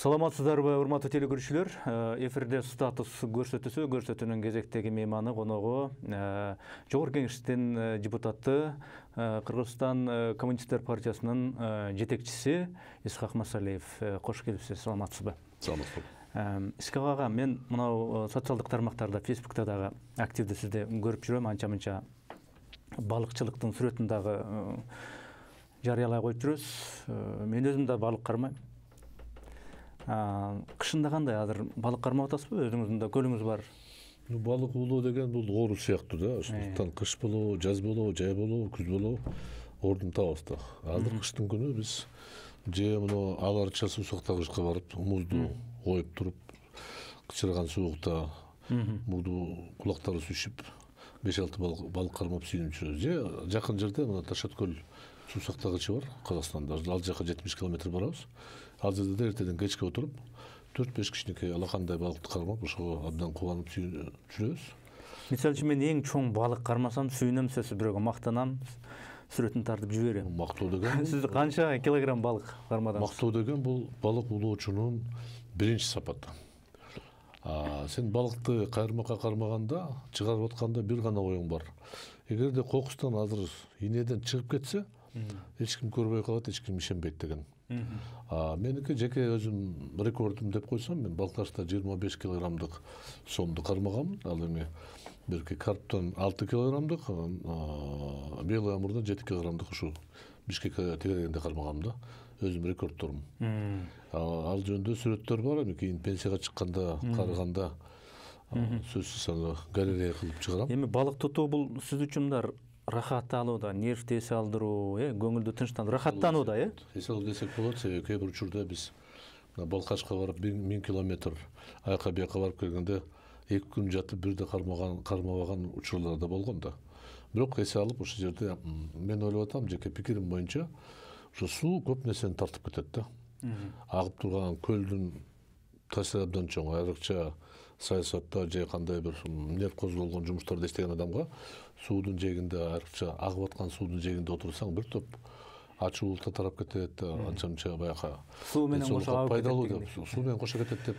Саламатсыздарбы, урматтуу телекөрүүчүлөр. Эфирде статус көрсөтүүсү, көрсөтүүнүн кезектеги мейманы коногу Жогорку Кеңештин депутаты, Кыргызстан Коммунисттер партиясынын жетекчиси Исхак Масалиев. Кош келипсиз, саламатсызбы? Саламатсызбы. Исхак ага, мен мынау социалдык тармактарда, Фейсбукта дагы активдүү сизди көрүп жүрөм, анча-мынча балыкчылыктын сүрөтүн дагы жарыялай коюп жүрөсүз. Мен өзүм да балык кармайм. Кышында кандай, азыр балык кармап атасызбы? Өзүңүздүн да көлүңүз бар. Балык улоо деген бул оору сыяктуу да. Ошондуктан кыш болобу, жаз болобу, жай болобу, күз болобу ордун табабыз да. Азыр кыштын күнү биз же мына ала арча суусактагычка барып, музду коюп туруп, кычырган суукта мурду кулактары сүшүп, 5-6 балык кармап сүйүнүп жүрөбүз. Же жакын жерде мына Ташаткөл суусактагычы бар Казакстанда. Ал жака 70 километр барабыз. Ал жерде эртеден кечке отуруп 4-5 кичинекей алакандай балыкты кармап, ошого абдан кубанып жүрөбүз. Мисалы үчүн мен эң чоң балык кармасам сүйүнөм, сөзсүз бирөөгө мактанам, сүрөтүн тартып жиберем. Мактоо деген сиз канча килограмм балык кармадыңыз? Мактоо деген бул балык улоочунун биринчи сапаты. Сен балыкты кайрмакка кармаганда, чыгарып атканда бир гана оюң бар. Эгерде кокустан азыр инеден чыгып кетсе, эч ким көрбөй калат, эч ким ишенбейт деген. Меники жеке өзүм рекордум деп койсом, мен Балкашта 25 килограммдык сомду кармаганмын. Ал эми берки карптан 6 килограммдык, белый амурдан 7 килограммдык ушу Бишкекке тегерегенде кармаганмын да. Өзүм рекордторум. Ал жөнүндө сүрөттөр бар, эми кийин пенсияга чыкканда, карыганда сөзсүз аны галерея кылып чыгарам. Эми балык тутуу бул сиз үчүн мындай рахат алуу да, нервди эс алдыруу, көңүлдү тынчтандыруу, рахаттануу да, эс алуу десек болот, себеби кээ бир учурда биз Балкашка барып 1000 километр аяка бияка барып келгенде 2 күн жатып бирде кармабаган учурлар да болгон да. Бирок эс алып ошол жерде мен ойлоп атам, жеке пикирим боюнча, ошо суу көп нерсени тартып кетет да. Агып турган көлдүн таасири абдан чоң, айрыкча саясатта же кандай бир нерв козголгон жумуштарды иштеген адамга суудун жээгинде, айрыкча агып аткан суудун жээгинде отурсаң бир топ ачуулукта тарап кетет, анча-мынча баягы суу менен кошо агып пайдалуу деп, суу менен кошо кетет деп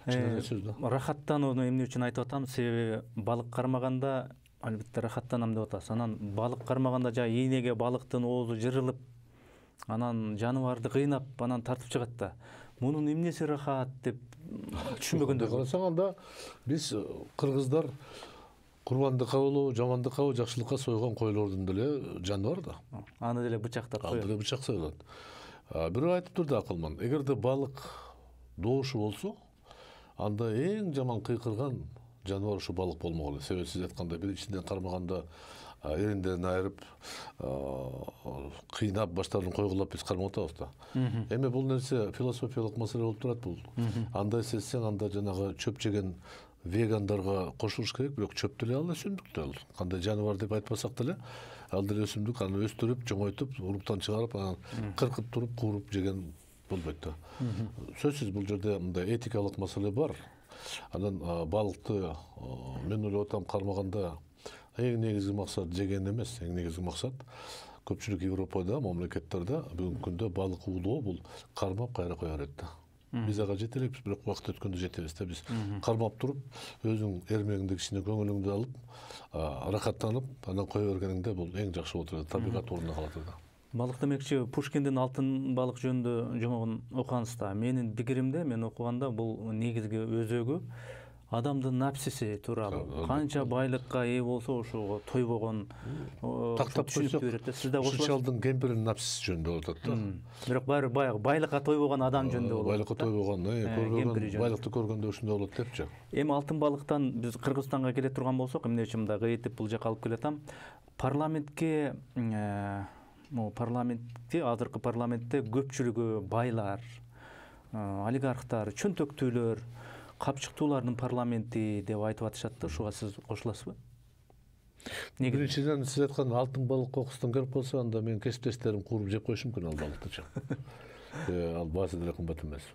чын эле сөз да. Рахаттанууну эмне үчүн айтып атам? Себеби балык кармаганда албетте рахаттанам деп атасыз. Анан балык кармаганда жа ийнеге балыктын оозу жырылып, анан жаныбарды кыйнап, анан тартып чыгат да. Мунун эмнеси рахат деп түшүнбөгөндөр. Карасаң анда биз кыргыздар курбандыкка болобу, жамандыкка, жакшылыкка сойгон койлордун деле жаны бар да. Аны деле бычактап коёт. Аны деле бычак союлат. Бирөө айтыптыр да акылман. Эгерде балык доошу болсо, анда эң жаман кыйкырган жаныбар ушу балык болмок эле. Себеби сиз айткандай бир ичинден кармаганда эриндерин айырып, кыйнап, баштарын койгулап биз кармап атабыз да. Эми бул нерсе философиялык маселе болуп турат бул. Андай сезсең, анда жанагы чөп жеген вегандарга кошулуш керек, бирок чөп деле ал өсүмдүк да. Кандай жаныбар деп айтпасак деле, ал деле өсүмдүк, аны өстүрүп, чоңойтуп, уруктан чыгарып, анан кыркып туруп, кууруп жеген болбойт да. Сөзсүз бул жерде мындай этикалык маселе бар. Анан балыкты мен ойлоп атам, кармаганда эң негизги максат жеген эмес, эң негизги максат көпчүлүк Европада, мамлекеттерде бүгүнкү күндө балык улоо бул кармап кайра кое берет да. Биз ага жете элекпиз, бирок убакыт өткөндө жетебиз да. Биз кармап туруп, өзүң эрмегиңди кичине көңүлүңдү алып, рахаттанып, анан кое бергениңде бул эң жакшы болот да. Табигат ордуна калат да. Балык демекчи, Пушкиндин Алтын балык жөнүндө жомогун окугансыз да. Менин пикиримде, мен окуганда бул негизги өзөгү адамдын напсиси тууралуу. Канча байлыкка ээ болсо ошого тойбогон тактап түшүнүктүү берет да. Сиз да ошол чалдын кемпиринин напсиси жөнүндө болуп атат да. Бирок баары баягы байлыкка тойбогон адам жөнүндө болот. Байлыкка тойбогон, көрбөгөн байлыкты көргөндө ушундай болот депчи. Эми алтын балыктан биз Кыргызстанга келе турган болсок, эмне үчүн мындай кыйытып бул жака алып келатам? Парламентке азыркы парламентте көпчүлүгү байлар, олигархтар, чөнтөктүүлөр, капчыктуулардын парламенти деп айтып атышат да. Ушуга сиз кошуласызбы? Биринчиден сиз айткан алтын балык кокустан келип калса, анда менин кесиптештерим кууруп жеп коюшу мүмкүн ал балыктычы. Ал баасы деле кымбат эмес.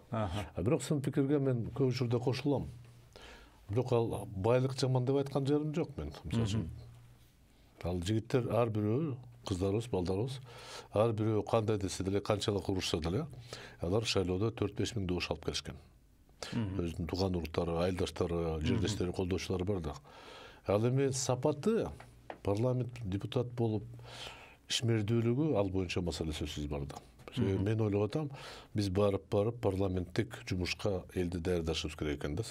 Бирок сын пикирге мен көп учурда кошулам. Бирок ал байлык жаман деп айткан жерим жок мен. Мисалы үчүн ал жигиттер ар бирөө кыздарыбыз, балдарыбыз ар бирөө кандай десе деле, канчалык урушса деле, алар шайлоодо 4-5 миң добуш алып келишкен. Өзүнүн тууган уруттары, айылдаштары, жердештери, колдоочулары бар да. Ал эми сапаты, парламент депутат болуп ишмердүүлүгү ал боюнча маселе сөзсүз бар да. Мен ойлоп атам, биз барып парламенттик жумушка элди даярдашыбыз керек экен да.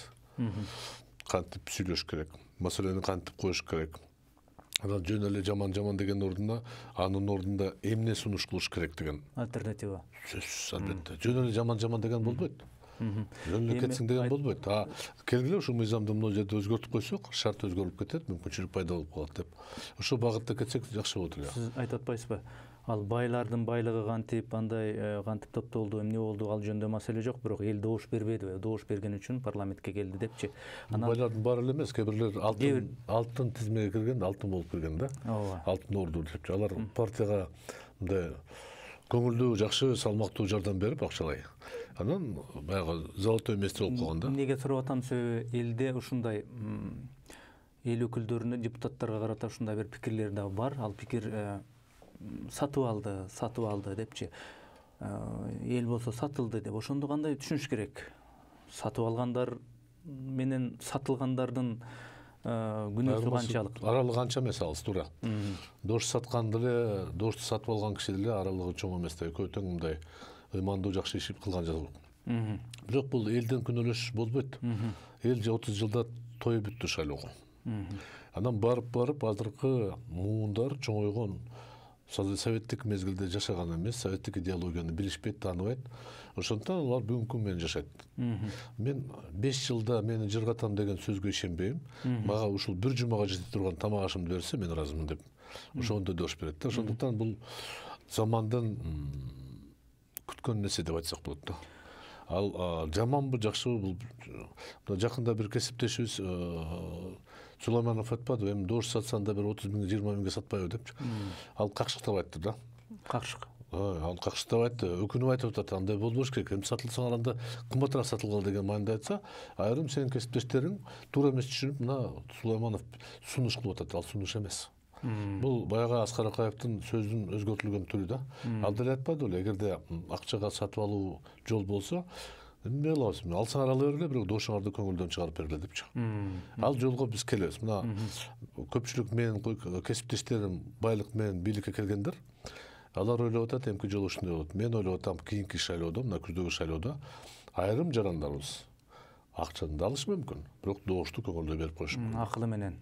Кантип сүйлөш керек, маселени кантип коюш керек. Анан жөн эле жаман деген ордуна, анын ордунда эмне сунуш кылыш керек деген альтернатива. Сөзсүз, албетте. Жөн эле жаман деген болбойт. Жөн эле кетсиң деген болбойт. Келгиле ушул мыйзамды мына жерде өзгөртүп койсок, шарт өзгөрүп кетет, мүмкүнчүлүк пайда болуп калат деп. Ошол багытта кетсек жакшы болот эле. Сиз айтып атпайсызбы? Ал байлардын байлыгы кантип, андай кантип топтолду, эмне болду, ал жөнүндө маселе жок, бирок эл добуш бербеди, добуш берген үчүн парламентке келди депчи. Байлардын баары эле эмес, кээ бирлер алтын тизмеге кирген, алтын болуп кирген да. Алтын орду депчи. Алар партияга мындай көңүлдүү, жакшы, салмактуу жардам берип акчалай. Анан баягы золотой место болуп калган да. Эмнеге сурап атам, себеби элде ушундай эл өкүлдөрүнө, депутаттарга карата ушундай бир пикирлер да бар. Ал пикир сатып алды депчи. Эл болсо сатылды деп. Ошондо кандай түшүнүш керек? Сатып алгандар менен сатылгандардын күнөөсү канчалык? Аралыгы канча эмес, алыс туура. Дош саткан деле, дошту сатып алган киши деле аралыгы чоң эмес да. Экөө тең мындай ыймандуу жакшы иш кылган жок. Бирок бул элден күнөөлөш болбойт. Эл 30 жылда тоюп бүттү шайлоого. Анан барып азыркы муундар чоңойгон, советтик мезгилде жашаган эмес, советтик идеологияны билишпейт, тааныбайт. Ошондуктан алар бүгүнкү күн менен жашайт. Мен 5 жылда мени жыргатам деген сөзгө ишенбейм. Мага ушул бир жумага жете турган тамак ашымды берсе, мен ыраазымын деп. Ошондо дош берет да. Ошондуктан бул замандын күткөн нерсе деп айтсак болот да. Ал жаманбы, жакшыбы, бул жакында бир кесиптешибиз Сулайманов айтпады, эми дош сатсаң да бир 30 миң, 20 миңге сатпайбы депчи. Ал какшыктап айтты да. Какшык. Ал какшыктап айтты, өкүнүп айтып атат, андай болбош керек. Эми сатылсаң анда кымбатыраак сатылгыла деген мааниде айтса, айрым сенин кесиптештериң туура эмес түшүнүп, мына Сулайманов сунуш кылып атат. Ал сунуш эмес. Бул баягы Аскар Акаевдин сөзүнүн өзгөртүлгөн түрү да. Ал деле айтпады беле, эгерде акчага сатып алуу жол болсо, эмне кылабыз? Алсаң ала бергиле, бирок дошуңарды көңүлдөн чыгарып бергиле депчи. Ал жолго биз келебиз. Мына көпчүлүк менин кесиптештерим байлык менен бийликке келгендер, алар ойлоп атат, эмки жолу ушундай болот. Мен ойлоп атам, кийинки шайлоодо, мына күздөгү шайлоодо айрым жарандарыбыз акчаны да алышы мүмкүн, бирок добушту көңүлдүү берип коюшу мүмкүн. Акылы менен.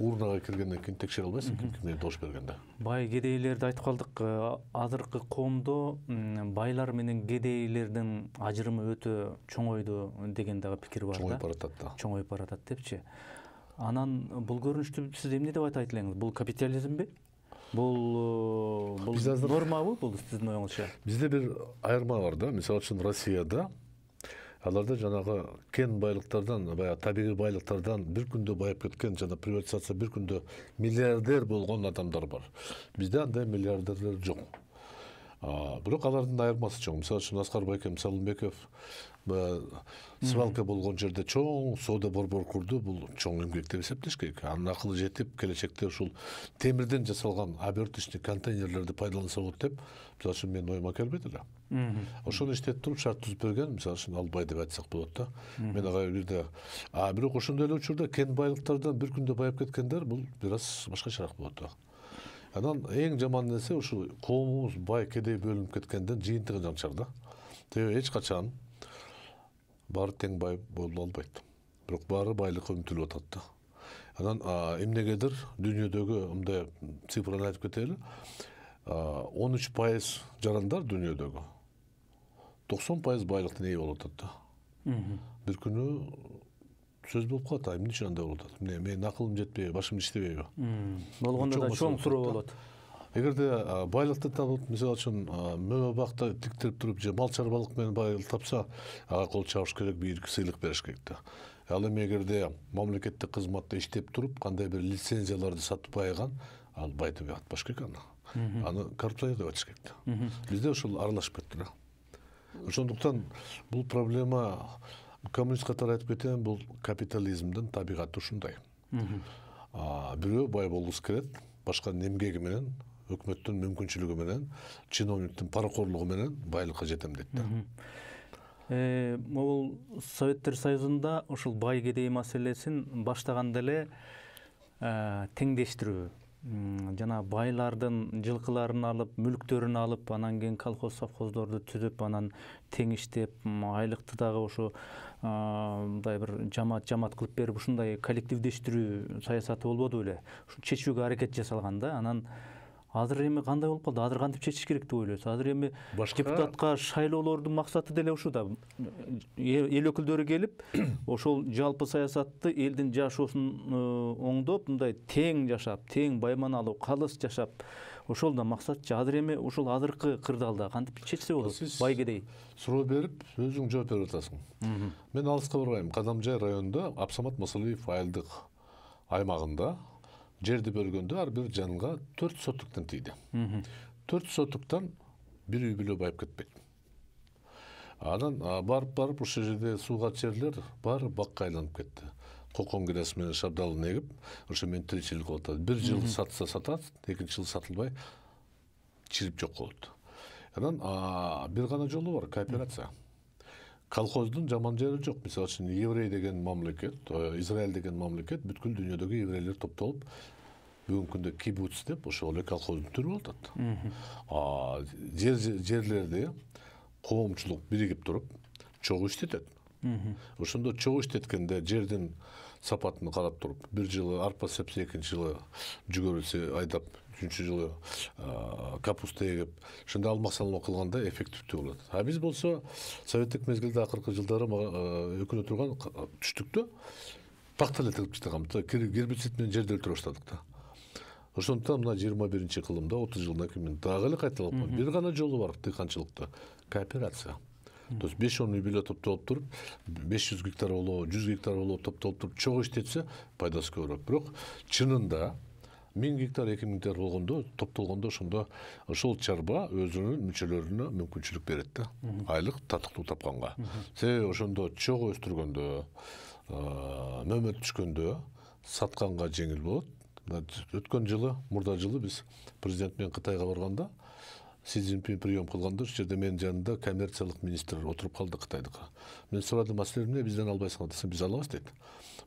Урнага киргенден кийин текшере албайсың, кимге добуш бергенде. Бай кедейлерди айтып калдык. Азыркы коомдо байлар менен кедейлердин ажырымы өтө чоңойду деген дагы пикир бар да. Чоңоюп баратат да. Чоңоюп баратат депчи. Анан бул көрүнүштү сиз эмне деп айтат элеңиз? Бул капитализмби? Бул нормабы бул сиздин оюңузча? Бизде бир айырма бар да. Мисалы үчүн Россияда аларда жанагы кен байлыктардан, баягы табигый байлыктардан бир күндө байып кеткен, жана приватизация бир күндө миллиардер болгон адамдар бар. Бизде андай миллиардерлер жок. Бирок алардын айырмасы чоң. Мисалы үчүн Аскар Байкем Салымбеков свалка болгон жерде чоң соода борбор курду. Бул чоң эмгек деп эсептеш керек. Анын акылы жетип, келечекте ушул темирден жасалган оберточный контейнерлерди пайдаланса болот деп, мисалы үчүн менин оюма келбейт эле. Ошону иштетип туруп шарт түзүп берген, мисалы үчүн Албай деп айтсак болот да. Мен ага бирде бирок ошондой эле учурда кен байлыктардан бир күндө байып кеткендер бул бир аз башкачараак болот да. Анан эң жаман нерсе ушул коомубуз бай кедей бөлүнүп кеткенден жыйынтыгы жанчар да. Себеби эч качан баары тең бай боло албайт. Бирок баары байлыкка умтулуп атат да. Анан эмнегедир дүйнөдөгү мындай цифраны айтып кетели. 13% жарандар дүйнөдөгү 90% байлыктын ээ болуп атат да. Бир күнү сөз болуп калат, эмне үчүн андай болуп атат? Менин акылым жетпейби, башым иштебейби? Болгондо да чоң суроо болот. Эгерде байлыкты табып, мисалы үчүн мөбө бакта тиктирип туруп же мал чарбалык менен байлык тапса, ага кол чабыш керек, бийик сыйлык бериш керек да. Ал эми эгерде мамлекеттик кызматта иштеп туруп, кандай бир лицензияларды сатып байыган, ал бай деп атпаш керек аны. Аны коррупция деп айтыш керек да. Бизде ушул аралашып кетти да. Ошондуктан бул проблема, коммунист катары айтып кетем, бул капитализмдин табигаты ушундай. Бирөө бай болгусу келет, башканын эмгеги менен өкмөттүн мүмкүнчүлүгү менен, чиновниктин паракорлугу менен байлыкка жетем дейт да. Могул Советтер Союзунда ушул бай кедей маселесин баштаганда эле теңдештирүү, жана байлардын жылкыларын алып, мүлктөрүн алып, анан кийин колхоз совхоздорду түзүп, анан тең иштеп, айлыкты дагы ошо мындай бир жамаат кылып берип, ушундай коллективдештирүү саясаты болбоду беле? Ушу чечүүгө аракет жасалган да. Анан азыр эми кандай болуп калды? Азыр кантип чечиш керек деп ойлойсуз? Азыр эми депутатка шайлоолордун максаты деле ушул да. Эл өкүлдөрү келип, ошол жалпы саясатты элдин жашоосун оңдоп, мындай тең жашап, тең байманалуу, калыс жашап, ошол да максат. Азыр эми ушул азыркы кырдаалда кантип чечсе болот? Бай кедей. Суроо берип, өзүң жооп берип атасың. Мен алыска барбайм. Кадамжай районунда Абсамат Масалиев айылдык аймагында жерди бөлгөндө ар бир жанга 4 соттуктан тийди. 4 соттуктан бир үй бүлө байып кетпейт. Анан барып ошол жерде сууга жерлер баары бакка айланып кетти. Кокон кирesi менен шабдалын эгип, ошо менен тиричилик кылып атат. Бир жыл сатса сатат, экинчи жыл сатылбай чирип жок болот. Анан бир гана жолу бар — кооперация. Колхоздун жаман жери жок. Мисалы үчүн еврей деген мамлекет, Израиль деген мамлекет бүткүл дүйнөдөгү еврейлер топтолуп, бүгүнкү күндө кибуц деп ошол эле колхоздун түрү болуп атат. Жерлерди коомчулук биригип туруп чогуу иштетет. Ошондо чогуу иштеткенде жердин сапатын карап туруп, бир жылы арпа сепсе, экинчи жылы жүгөрү айдап, үчүнчү жылы капуста эгип, ошондо алмак салмак кылганда эффективдүү болот. А биз болсо советтик мезгилде акыркы жылдары өкүнө турган түштүктө пакта эле тыгып таштаган, гербицид менен жерди өлтүрө баштадык да. Ошондуктан мына 21 кылымда 30 жылдан кийин мен дагы эле кайталап, бир гана жолу бар дыйканчылыкта — кооперация. То есть 5-10 үй бүлө топтолуп туруп, 500 гектар болобу, 100 гектар болобу топтолуп туруп чогуу иштетсе, пайдасы көбүрөөк. Бирок чынында 1000 гектар, 2000 гектар болгондо, топтолгондо ошондо ошол чарба өзүнүн мүчөлөрүнө мүмкүнчүлүк берет да. Айлык татыктуу тапканга. Себеби ошондо чогуу өстүргөндө, мөмөт түшкөндө сатканга жеңил болот. Өткөн жылы, мурда жылы биз президент менен Кытайга барганда, Си Цзиньпин прием кылганда, ошол жерде менин жанымда коммерциялык министр отуруп калды Кытайдыкы. Мен сурадым, силер эмне бизден албайсыңар десем, биз алабыз дейт.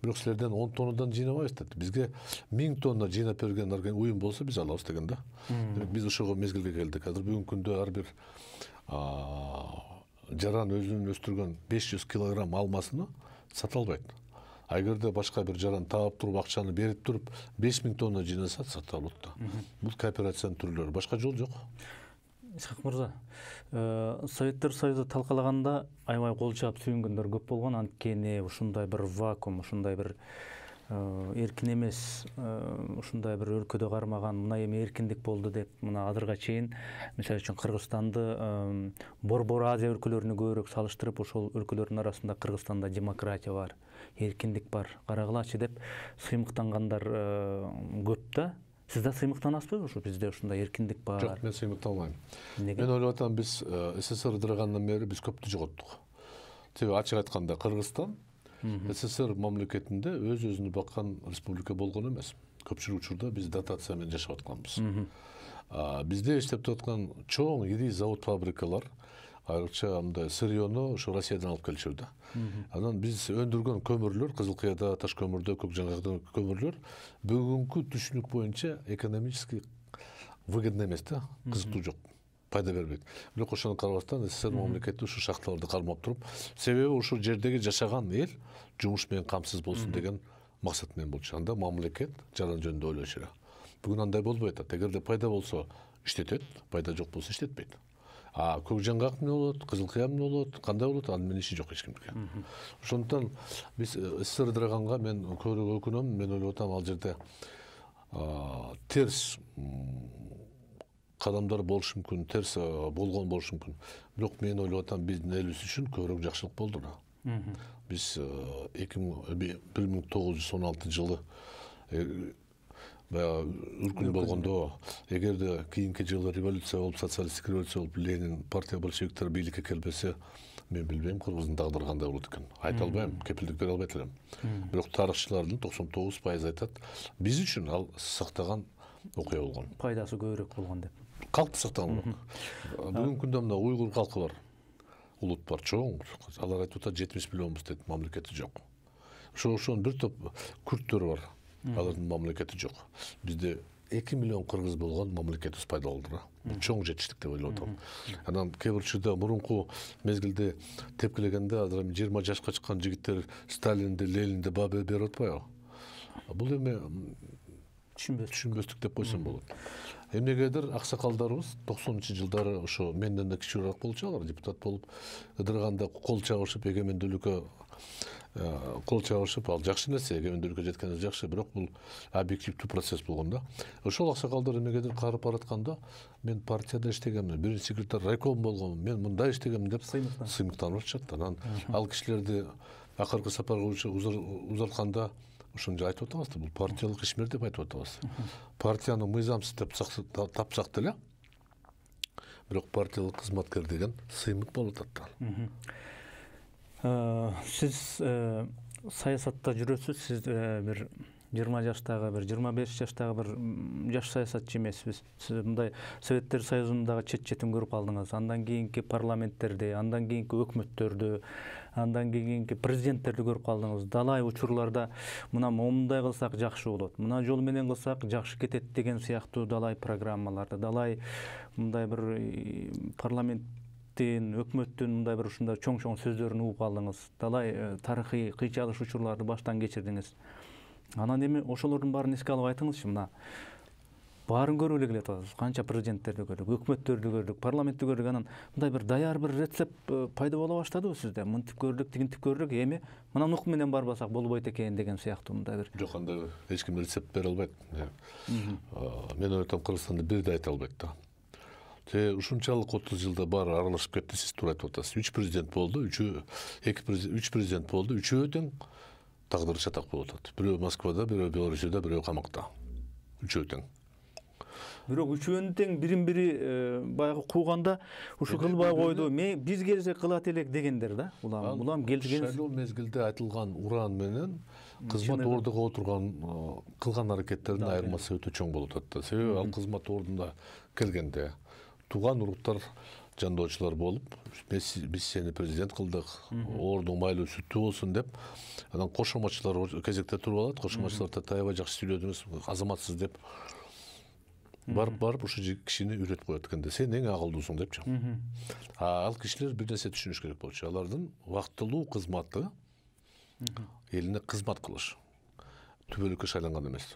Бирок силерден 10 тоннадан жыйнабайбыз дейт. Бизге 1000 тонна жыйнап берген уюм болсо биз алабыз деген да. Демек биз ошого мезгилге келдик. Азыр бүгүнкү күндө ар бир жаран өзүнүн өстүргөн 500 килограмм алмасыны сата албайт. Эгерде башка бир жаран таап туруп акчаны берип туруп 5000 тонна жыйнаса сата алат да. Бул кооперациянын түрлөрү, башка жол жок. Исхак мырза, Советтер Союзу талкалаганда аябай кол чаап сүйүнгөндөр көп болгон. Анткени ушундай бир вакуум, ушундай бир эркин эмес, ушундай бир өлкөдө кармаган, мына эми эркиндик болду деп, мына азырга чейин мисалы үчүн Кыргызстанды Борбор Азия өлкөлөрүнө көбүрөөк салыштырып, ошол өлкөлөрдүн арасында Кыргызстанда демократия бар, эркиндик бар, карагылачы деп сыймыктангандар көп да. Сиз да сыймыктанасызбы? Ушу бизде ушундай эркиндик бар. Жок, мен сыймыкталбайм. Неге? Мен ойлоп атам, биз СССР ыдырагандан бери биз көптү жоготтук. Себеби ачык айтканда Кыргызстан СССР мамлекетинде өз-өзүнү баккан республика болгон эмес. Көпчүлүк учурда биз дотация менен жашап атканбыз. Бизде иштеп аткан чоң ири завод фабрикалар, айрыкча мындай сырьёну ошо Россиядан алып келишет да. Анан биз өндүргөн көмүрлөр, Кызылкыяда, Таш көмүрдө, Көкжаңгакта көмүрлөр бүгүнкү түшүнүк боюнча экономически выгодно эмес да, кызыктуу жок, пайда бербейт. Бирок ошону карабастан СССР мамлекети ушу шахталарды кармап туруп, себеби ушул жердеги жашаган эл жумуш менен камсыз болсун деген максат менен болчу. Анда мамлекет жаран жөнүндө ойлошу керек. Бүгүн андай болбой атат. Эгерде пайда болсо иштетет, пайда жок болсо иштетпейт. Көкжаңгак эмне болот, Кызылкыя эмне болот, кандай болот, анын менен иши жок эч кимдики. Ошондуктан биз СССР ыдыраганга мен көбүрөөк өкүнөм. Мен ойлоп атам, ал жерде терс кадамдар болушу мүмкүн, терс болгон болушу мүмкүн. Бирок мен ойлоп атам, биздин элибиз үчүн көбүрөөк жакшылык болду да. Биз 1916 жылы үркүн болгондо, эгерде кийинки жылы революция болуп, социалисттик революция болуп, Ленин, партия большевиктер бийликке келбесе, мен билбейм Кыргыздын тагдыры кандай болот экен. Айта албайм, кепилдик бере албайт элем. Бирок тарыхчылардын 99% айтат, биз үчүн ал сактаган окуя болгон. Пайдасы көбүрөөк болгон деп. Калкты сактаган. Бүгүнкү күндө мына уйгур калкы бар. Улут бар, чоң. Алар айтып атат 70 миллионбуз дейт, мамлекети жок. Ошон бир топ күрттөр бар. Алардын мамлекети жок. Бизде 2 миллион кыргыз болгон мамлекетибиз пайда болду. Чоң жетиштик деп ойлоп атам. Анан кээ бир учурда мурунку мезгилде тепкилегенде азыр 20 жашка чыккан жигиттер Сталинди, Ленинди баа берип атпайбы? Бул эми түшүнбөстүк деп койсом болот. Эмнегедир аксакалдарыбыз 90-жылдары ошо менден да кичүүрөөк болчу, алар депутат болуп ыдырганда кол чабышып эгемендүүлүккө кол чабышып, ал жакшы нерсе, эгемендүүлүккө жеткенибиз жакшы, бирок бул объективдүү процесс болгон да. Ошол аксакалдар эмнегедир карып баратканда, мен партияда иштегенмин, биринчи секретарь райком болгонмун, мен мындай иштегенмин деп сыймыктанып атышат. Анан ал кишилерди акыркы сапарга узатканда ошону айтып атабыз да, бул партиялык ишмер деп айтып атабыз. Партияны мыйзамсыз деп тапсак деле, бирок партиялык кызматкер деген сыймык болуп атат. Сиз саясатта жүрөсүз, сиз бир 20 жаштагы, бир 25 жаштагы бир жаш саясатчы эмессиз. Сиз мындай Советтер Союзундагы четин көрүп алдыңыз, андан кийинки парламенттерди, андан кийинки өкмөттөрдү, андан кийинки президенттерди көрүп калдыңыз. Далай учурларда мына момундай кылсак жакшы болот, мына жол менен кылсак жакшы кетет деген сыяктуу далай программаларды, далай мындай бир өкмөттүн мындай бир ушундай чоң сөздөрүн угуп алдыңыз. Далай тарыхый кыйчалыш учурларды баштан кечирдиңиз. Анан эми ошолордун баарын эске алып айтыңызчы, мына баарын көрүп эле келип атабыз. Канча президенттерди көрдүк, өкмөттөрдү көрдүк, парламентти көрдүк. Анан мындай бир даяр бир рецепт пайда боло баштадыбы сизде? Мынтип көрдүк, тигинтип көрдүк, эми мына нук менен барбасак болбойт экен деген сыяктуу мындай бир. Жок, андай эч ким рецепт бере албайт. Мен ойлойм, Кыргызстанда бир да айта албайт да. Ушунчалык 30 жылда баары аралашып кетти, сиз туура айтып атасыз. 3 президент болду, 3 президент болду, 3-өө тең тагдыры чатак болуп атат. Бирөө Москвада, бирөө Белоруссияда, бирөө камакта. 3-өө тең. Бирок үчөөнүн тең бирин-бири баягы кууганда ушу кылбай койду. Биз келсек кылат элек дегендер да. Улам келген шайлоо мезгилде айтылган уран менен кызмат ордуга отурган кылган аракеттердин айырмасы өтө чоң болуп атат. Себеби ал кызмат ордуна келгенде тууган уруктар жандоочулар болуп, биз сени президент кылдык, ордуң майлуу сүттүү болсун деп, анан кошоматчылар кезекте туруп алат, кошоматчылар аябай жакшы сүйлөдүңүз, азаматсыз деп барып ушу кишини үйрөтүп коет экенде, сен эң акылдуусуң депчи. Ал кишилер бир нерсе түшүнүш керек болчу. Алардын вактылуу кызматы элине кызмат кылыш, түбөлүккө шайланган эмес.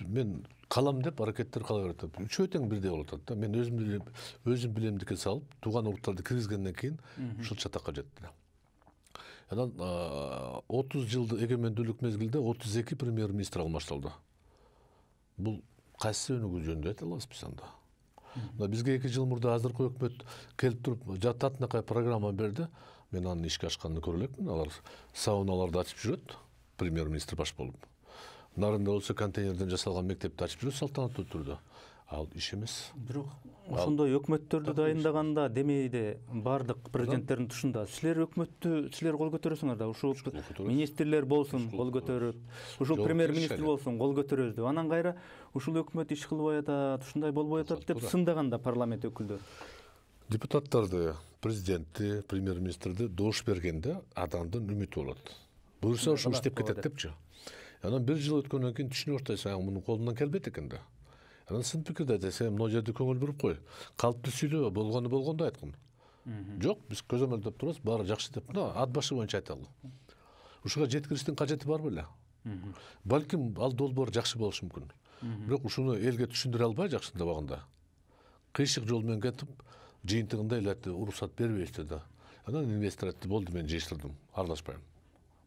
Мен калам деп аракеттер кала берет. Үчөө тең бирдей болуп атат да. Мен өзүм билемдикке салып, тууган уруктарды киргизгенден кийин ушул чатакка жетти. Анан 30 жылды эгемендүүлүк мезгилде 32 премьер-министр алмаштырылды. Бул кайсы өнүгүү жөнүндө айта алабыз биз анда? Бизге 2 жыл мурда азыркы өкмөт келип туруп жататынакай программа берди. Мен анын ишке ашканын көрө элекмин. Алар сауналарды ачып жүрөт, премьер-министр баш болуп. Нарында болсо контейнерден жасалган мектепти ачып жүрөт салтанаттуу түрдө. Ал иш эмес. Бирок ошондой өкмөттөрдү дайындаганда демейде бардык президенттердин тушунда силер өкмөттү силер кол көтөрөсүңөр да, ушул министрлер болсун кол көтөрүп, ушул премьер-министр болсун кол көтөрөбүз деп. Анан кайра ушул өкмөт иш кылбай атат, ушундай болбой атат деп сындаганда парламент өкүлдөрү. Депутаттарды, президентти, премьер-министрди дош бергенде адамдын үмүтү болот. Буюрса ошол иштеп кетет депчи. Анан 1 жыл өткөндөн кийин түшүнүп атасың, мунун колунан келбейт экен да. Анан сын пикирде айтасың, могу жерде көңүл буруп кой. Калпты сүйлөбө, болгондо айткын. Жок, биз көзөмөлдөп турабыз, баары жакшы деп, ат башы боюнча айталы. Ушуга жеткириштин кажети бар беле? Балким ал долбоор жакшы болушу мүмкүн. Бирок ушуну элге түшүндүрө албай жакшындабаганда кыйшык жол менен кетип, жыйынтыгында эле уруксат бербейбиз да. Анан инвестор айтты, болду, мен жыйыштырдым, аралашпайм.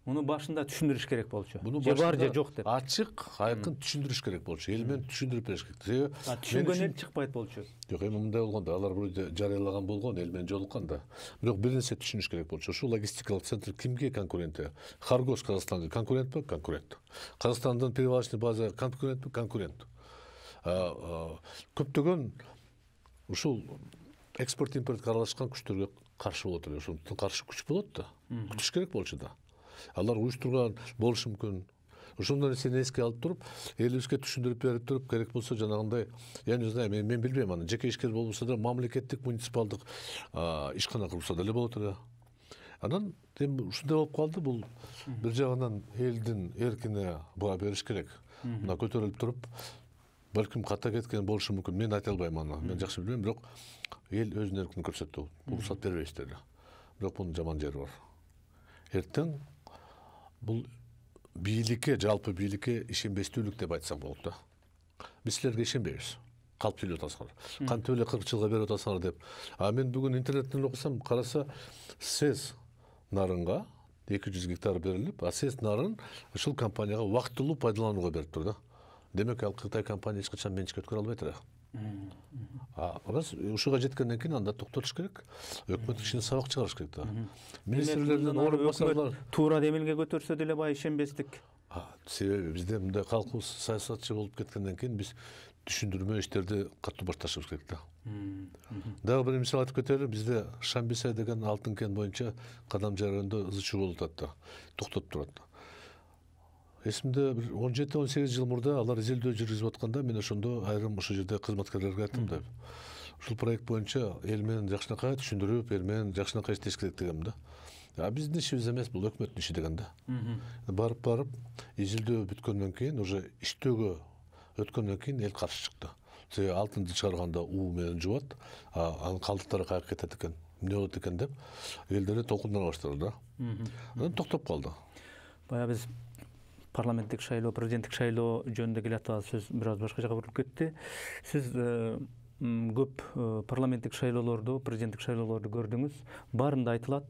Муну башында түшүндүрүш керек болчу. Же бар же жок деп. Ачык, айкын түшүндүрүш керек болчу. Эл менен түшүндүрүп бериш керек. Түшүнгөн эл чыкпайт болчу. Жок, эми мындай болгондо, алар бул жарыялаган болгон, эл менен жолуккан да. Бирок бир нерсе түшүнүш керек болчу. Ушул логистикалык центр кимге конкурент? Харгос Казакстанга конкурентпи? Конкурент. Казакстандын перевалочный база конкурентпи? Конкурент. Көптөгөн ушул экспорт импортко аралашкан күчтөргө каршы болот эле. Ошондон каршы күч болот да. Күтүш керек болчу да. Алар уюштурган болушу мүмкүн. ошондой нерсени эске алып туруп элибизге түшүндүрүп берип туруп, керек болсо жанагындай, я не знаю, мен билбейм, аны жеке ишкер болбосо да мамлекеттик муниципалдык ишкана курса деле болот эле. Анан эми ушундай болуп калды, бул бир жагынан элдин эркине баа бериш керек. Мына көтөрүлүп туруп, балким ката кеткен болушу мүмкүн. Мен айта албайм аны. Мен жакшы билбейм, бирок эл өзүнүн эркин көрсөттү. Уруксат бербейбиз деле. Бирок бунун жаман жери бар. Эртең бул бийликке, жалпы бийликке ишенбестүүлүк деп айтсак болот да. Биз силерге ишенбейбиз. Калп сүйлөп атасыңар. Кантип эле 40 жылга берип атасыңар деп. Мен бүгүн интернеттен окусам, караса СЭС нарынга 200 гектар берилип, СЭС нарын ушул компанияга убактылуу пайдаланууга бериптир да. Демек ал Кытай компания эч качан менчикке өткөрө албайт эле. Раз ушуга жеткенден кийин анда токтотуш керек. Өкмөт ишине сабак чыгарыш керек да. Министрлердин орун басарлар туура демилге көтөрсө деле баягы ишенбестик. Себеби бизде мындай калкыбыз саясатчы болуп кеткенден кийин биз түшүндүрмө иштерди катуу башташыбыз керек да. Дагы бир мисал айтып кетели, бизде Шамбисай деген алтын кен боюнча Кадам районунда ызы-чуу болуп атат да. Токтоп турат. Эсимде 17-18 жыл мурда алар изилдөө жүргүзүп атканда мен ошондо айрым ошол жерде кызматкерлерге айттым да. Ушул проект боюнча эл менен жакшынакай түшүндүрүп, эл менен жакшынакай иштеш керек дегем да. Биздин ишибиз эмес, бул өкмөттүн иши деген да. Барып изилдөө бүткөндөн кийин, уже иштөөгө өткөндөн кийин эл каршы чыкты. Себеби алтынды чыгарганда уу менен жубат, анын калдыктары каяка кетет экен, эмне болот экен деп элдер толкундана баштады да. Анан токтоп калды. Баягы биз парламенттик шайлоо, президенттик шайлоо жөнүндө келе атабыз, сөз бир аз башка жака буруп кетти. Сиз көп парламенттик шайлоолорду, президенттик шайлоолорду көрдүңүз. Баарында айтылат,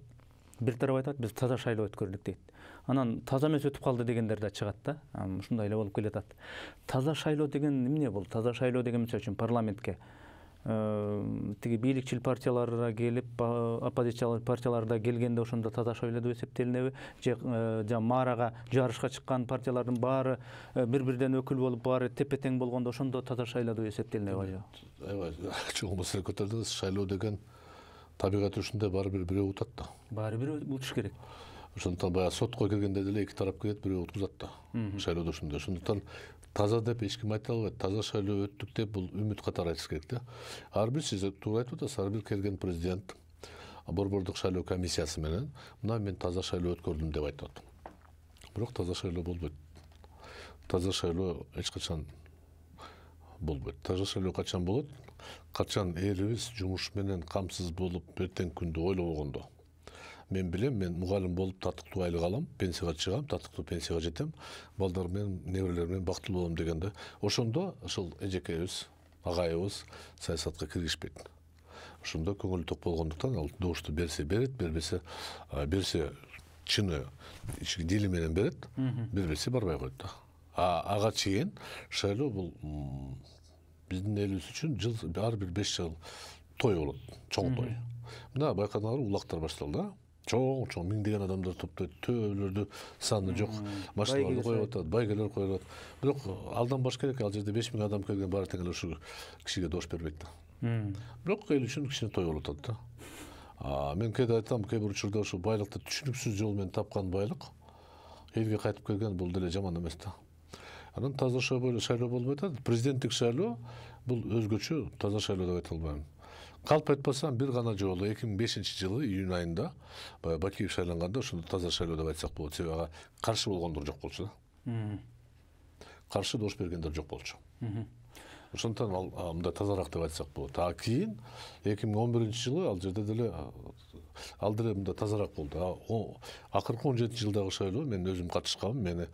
бир тарап айтат, биз таза шайлоо өткөрдүк дейт. Анан таза эмес өтүп калды дегендер да чыгат да. Ушундай эле болуп келатат. Таза шайлоо деген эмне бул? Таза шайлоо деген мисалы үчүн парламентке тиги бийликчил партияларга келип, оппозициялык партияларда келгенде ошондо таза шайлоо деп эсептелинеби? Же маарага жарышка чыккан партиялардын баары бири-бирден өкүл болуп, баары тепе-тең болгондо ошондо таза шайлоо деп эсептелинеби? Аябай чоң маселе көтөрдүңүз. Шайлоо деген табигаты ушундай, баары бир бирөө утат да. Баары бир утуш керек. Ошондуктан баягы сотко киргенде деле эки тарап келет, бирөө уткузат да. Шайлоодо ушундай. Ошондуктан таза деп эч ким айта албайт. Таза шайлоо өттүк деп бул үмүт катары айтыш керек да. Ар бир, сиз туура айтып атасыз, ар бир келген президент борбордук шайлоо комиссиясы менен мына мен таза шайлоо өткөрдүм деп айтат. Бирок таза шайлоо болбойт. Таза шайлоо эч качан болбойт. Таза шайлоо качан болот? Качан элибиз жумуш менен камсыз болуп, эртең күндү ойлобогондо. Мен билем, мен мугалим болуп татыктуу айлык алам, пенсияга чыгам, татыктуу пенсияга жетем, балдар менен, неберелер менен бактылуу болом дегенде, ошондо ошол эжекейбиз, агайыбыз саясатка киргишпейт. Ошондо көңүлү ток болгондуктан ал добушту берсе берет, бербесе чыны дили менен берет, бербесе барбай коет да. Ага чейин шайлоо бул биздин элибиз үчүн жыл ар бир 5 жыл той болот, чоң той. Мына байкадыңарбы, улактар башталды. Чоң миңдеген адамдар топтойт, төөлөрдү саны жок, машиналарды коюп атат, байгелер коюлат. Бирок алданбаш керек, ал жерде 5000 адам келген, баары тең эле ушул кишиге добуш бербейт да. Бирок эл үчүн кичине той болуп атат да. Мен кээде айтам, кээ бир учурда ушул байлыкты түшүнүксүз жол менен тапкан байлык элге кайтып келген, бул деле жаман эмес да. Анан таза шайлоо болбой атат. Президенттик шайлоо бул өзгөчө, таза шайлоо деп айта албайм. Калп айтпасам бир гана жолу 2005-жылы июнь айында Бакиев шайланганда ошондо таза шайлоо деп айтсак болот. Себеби ага каршы болгондор жок болчу да. Каршы добуш бергендер жок болчу. Ошондуктан ал мындай тазараак деп айтсак болот. Кийин 2011-жылы ал жерде деле мындай тазараак болду. Акыркы 17-жылдагы шайлоо мен өзүм катышканмын. Мени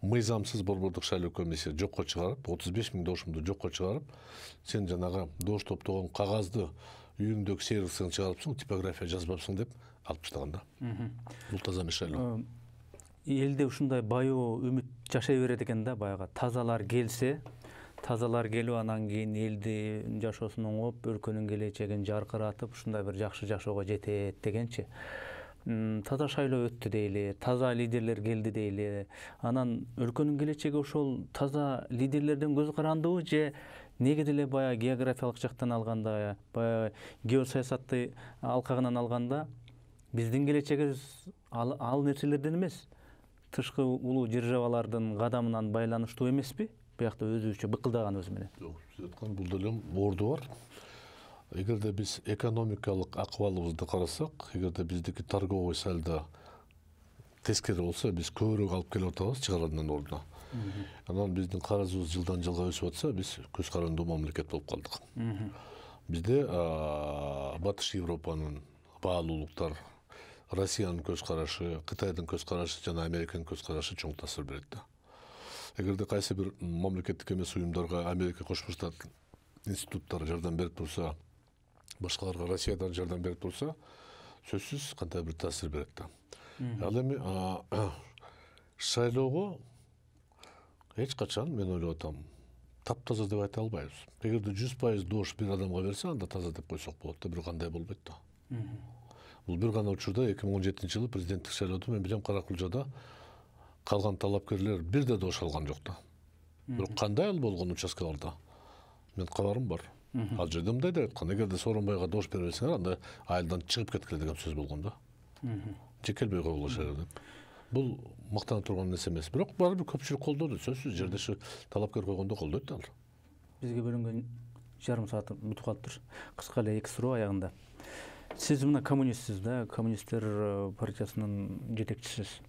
мыйзамсыз борбордук шайлоо комиссия жокко чыгарып, 35 000 добушумду жокко чыгарып, сен жанагы добуш топтогон кагазды үйүңдөгү сервисиңди чыгарыпсың, типография жазбапсың деп алып таштаган да. Бул таза эмес шайлоо. Элде ушундай баюу үмүт жашай берет экен да, баягы тазалар келсе, тазалар келип анан кийин элди жашоосун оңоп, өлкөнүн келечегин жаркыратып, ушундай бир жакшы жашоого жетет дегенчи. Таза шайлоо өттү дейли, таза лидерлер келди дейли. Анан өлкөнүн келечеги ошол таза лидерлерден көз карандыбы, же неге деле баягы географиялык жактан алганда, баягы геосаясатты алкагынан алганда биздин келечегибиз ал нерселерден эмес. тышкы улуу державалардын кадамынан байланыштуу эмеспи? Биякта өзүбүзчө быкылдаганыбыз менен. Жок, сиз айткан бул деле орду бар. Эгерде биз экономикалык акыбалыбызды карасак, эгерде биздики торговый сальдо тескери болсо, биз көбүрөөк алып келип атабыз чыгарандан ордуна. Анан биздин карызыбыз жылдан жылга өсүп атса, биз көз карандуу мамлекет болуп калдык. Бизде Батыш Европанын баалуулуктар, Россиянын көз карашы, Кытайдын көз карашы жана Американын көз карашы чоң таасир берет да. Эгерде кайсы бир мамлекеттик эмес уюмдарга Америка Кошмо Штат институттары жардам берип турса, башкаларга Россиядан жардам берип турса, сөзсүз кандай бир таасир берет да. Ал эми шайлоого эч качан мен ойлоп атам, таптаза деп айта албайбыз. Эгерде 100% доош бир адамга берсе, анда таза деп койсок болот да, бирок андай болбойт да. Бул бир гана учурда 2017-жылы президенттик шайлоодо мен билем Кара-Кулжада калган талапкерлер бир да доош алган жок да. Бирок кандай ал болгон участкаларда мен кабарым бар. Ал жерде мындай деп айткан, эгерде Сооронбайга доош бере берсеңер, анда айылдан чыгып кеткиле деген сөз болгон да. Жекелбей койгула шайлоо деп. Бул мактана турган нерсе эмес. Бирок баары бир көпчүлүк колдоду. Сөзсүз жердеши талапкер койгондо колдойт да ал. Бизге бөлүнгөн жарым саат бүтүп калыптыр. Кыска эле 2 суроо аягында. Сиз мына коммунистсиз да, коммунисттер партиясынын жетекчисиз.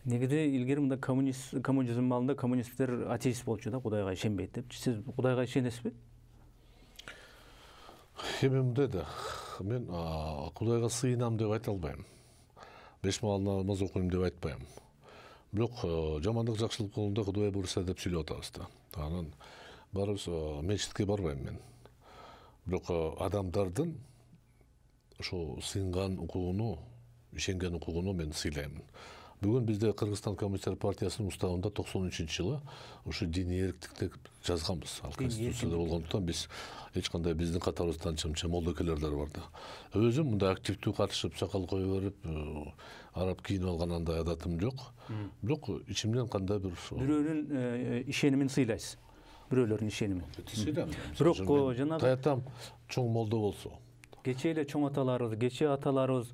Негизи илгери мында коммунизм маалында коммунисттер атеист болчу да, Кудайга ишенбейт деп. Сиз Кудайга ишенесизби? Эми мындай да, мен Кудайга сыйынам деп айта албайм. 5 маал намаз окуйм деп айтпайм. Бирок жамандык жакшылык жолунда Кудай буйруса деп сүйлөп атабыз да. Анан баарыбыз мечитке барбайм мен. Бирок адамдардын ошо сыйынган укугуну, ишенген укугуну мен сыйлаймын. Бүгүн бизде Кыргызстан коммунисттер партиясынын уставында 93-жылы ушу диний эрктикти жазганбыз. Ал конституцияда болгондуктан биз эч кандай биздин катарыбыздан чымчы молдокелер бар да. Өзүм мындай активдүү катышып, сакал кое берип, араб кийинип алган андай адатым жок. Бирок ичимден кандай бир бирөөнүн ишенимин сыйлайсыз. Бирөөлөрдүн ишенимин. Сыйлайм. Бирок жанагы таятам чоң молдо болсо. Кечээ эле чоң аталарыбыз, кечээ аталарыбыз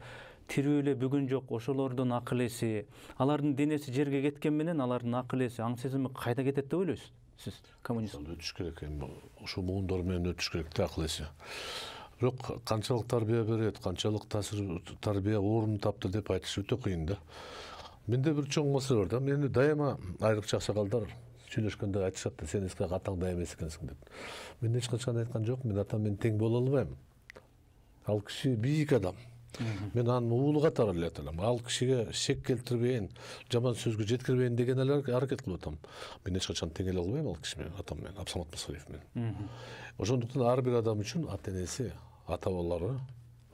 тирүү эле бүгүн жок, ошолордун акыл эси, алардын денеси жерге кеткен менен алардын акыл эси, аң сезими кайда кетет деп ойлойсуз? Сиз коммунист. Өтүш керек, эми ошо муундар менен өтүш керек да акыл эси. Бирок канчалык тарбия берет, канчалык тарбия орун тапты деп айтыш өтө кыйын да. Менде бир чоң маселе бар да. Мени дайыма айрыкча аксакалдар сүйлөшкөндө айтышат да, сен эски атаңдай эмес экенсиң деп. Мен эч качан айткан жокмун, мен атам менен тең боло албайм. Ал киши бийик адам. Мен анын уулу катары эле аталам. Ал кишиге шек келтирбейин, жаман сөзгө жеткирбейин деген эле аракет кылып атам. Мен эч качан тең эле албайм ал киши менен, атам менен, Абсамат Масалиев менен. Ошондуктан ар бир адам үчүн ата энеси, ата бабалары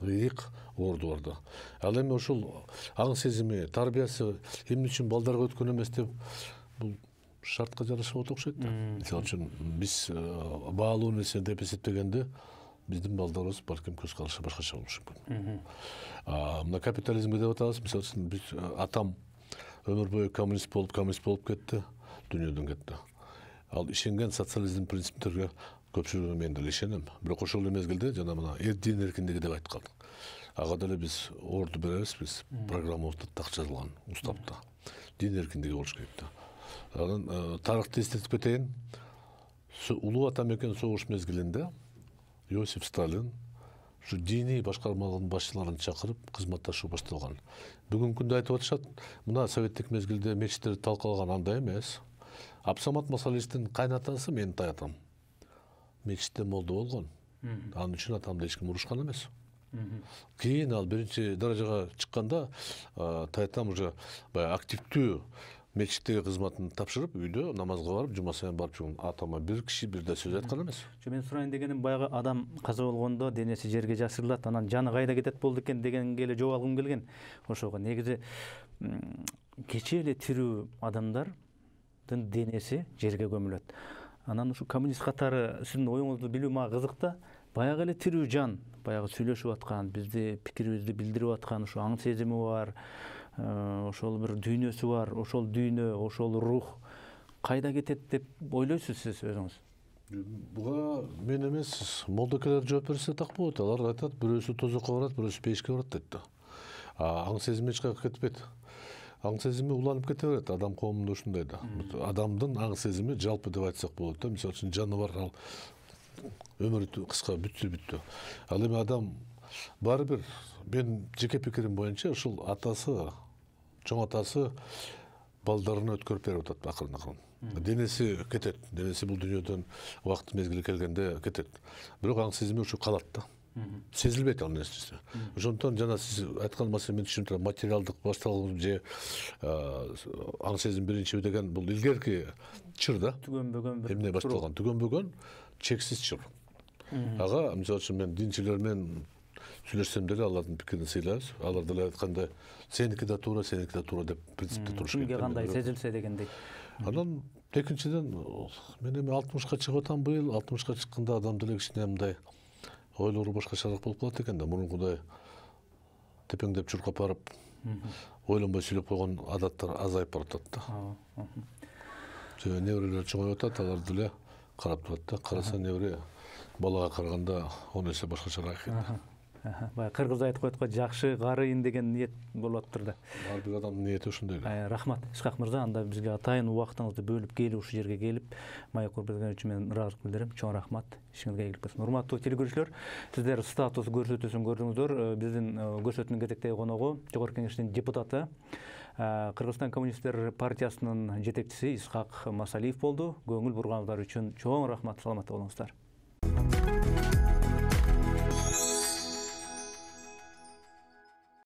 ыйык орду бар да. Ал эми ушул аң сезими, тарбиясы эмне үчүн балдарга өткөн эмес деп бул шартка жараша болот окшойт да. Мисалы үчүн биз баалуу нерсе деп эсептегенде биздин балдарыбыз балким көз карашы башкача болушу мүмкүн. Мына капитализмге деп атабыз. Мисалы үчүн биз атам өмүр бою коммунист болуп кетти, дүйнөдөн кетти. Ал ишенген социализм принциптерге көпчүлүгү мен деле ишенем. Бирок ошол эле мезгилде жана мына дин эркиндиги деп айткан. Ага деле биз орду беребиз, биз программабызда так жазылган уставда. Дин эркиндиги болуш керек да. Анан тарыхты эстетип кетейин. Улуу ата мекен согуш мезгилинде Иосиф Сталин ушу диний башкармалардын башчыларын чакырып кызматташуу башталган. Бүгүнкү күндө айтып атышат, мына советтик мезгилде мечиттерди талкалаган андай эмес. Абсамат Масалиевдин кайнатасы менин таятам мечитте молдо болгон. Анын үчүн атамды эч ким урушкан эмес. Кийин ал биринчи даражага чыкканда таятам уже активдүү мечиттеги кызматын тапшырып, үйдө намазга барып, жума сайын барып жүргөн. Атама бир киши бир да сөз айткан эмес. Мен сурайын дегеним, баягы адам каза болгондо денеси жерге жашырылат, анан жаны кайда кетет болду экен дегенге эле жооп алгым келген. Ошого негизи кечээ эле тирүү адамдардын денеси жерге көмүлөт. Анан ушу коммунист катары сиздин оюңузду билүү мага кызык да. Баягы эле тирүү жан, баягы сүйлөшүп аткан, бизди пикирибизди билдирип аткан ушу аң сезими бар. Ошол бир дүйнөсү бар, ошол дүйнө, ошол рух кайда кетет деп ойлойсуз сиз өзүңүз? Буга мен эмес, молдокелер жооп берсе так болот. Алар айтат, бирөөсү тозокко барат, бирөөсү пейишке барат дейт да. Аң сезим эч кайга кетпейт. аң сезими уланып кете берет. Адам коомунда ушундай да. Адамдын аң сезими жалпы деп айтсак болот да. Мисалы үчүн жаныбар ал өмүрү кыска бүттү. Ал эми адам баары бир, мен жеке пикирим боюнча ушул атасы, чоң атасы балдарына өткөрүп берип атат акырын. Денеси кетет. Денеси бул дүйнөдөн убакыт мезгили келгенде кетет. Бирок аң сезими ушу калат да. Сезилбейт ал нерсе. Ошондон жана сиз айткан маселе мен түшүнүп турам. Материалдык башталуу же аң сезим биринчи деген бул илгерки чыр да. Түгөнбөгөн бир. Эмне башталган? Түгөнбөгөн чексиз чыр. Ага, мисалы үчүн мен динчилер менен сүйлөшсөм деле алардын пикирин сыйлайбыз. Алар деле айткандай сеники да туура деп принципте туруш керек. Кимге кандай сезилсе дегендей. Анан экинчиден мен эми 60-ка чыгып атам быйыл. 60-ка чыкканда адам деле кичине мындай ойлору башкачараак болуп калат экен да. Мурункудай тепеңдеп чуркап барып ойлонбой сүйлөп койгон адаттар азайып баратат да. Неберелер чоңоюп атат, алар деле карап турат да. Караса небере балага караганда 10 эсе башкачараак экен. Баягы кыргыз айтып коет го, жакшы карыйын деген ниет болуп атыптыр да. Ар бир адамдын ниети ошондой эле. Рахмат Исхак мырза, анда бизге атайын убактыңызды бөлүп келип ушул жерге келип маек берген үчүн мен ыраазылык билдирем. Чоң рахмат. Ишиңизге ийгилик болсун. Урматтуу телекөрүүчүлөр, сиздер статус көрсөтүүсүн көрдүңүздөр. Биздин көрсөтүүнүн кезектеги коногу Жогорку Кеңештин депутаты, Кыргызстан Коммунисттер партиясынын жетекчиси Исхак Масалиев болду. Көңүл бурганыңыздар үчүн чоң рахмат. Саламатта болуңуздар.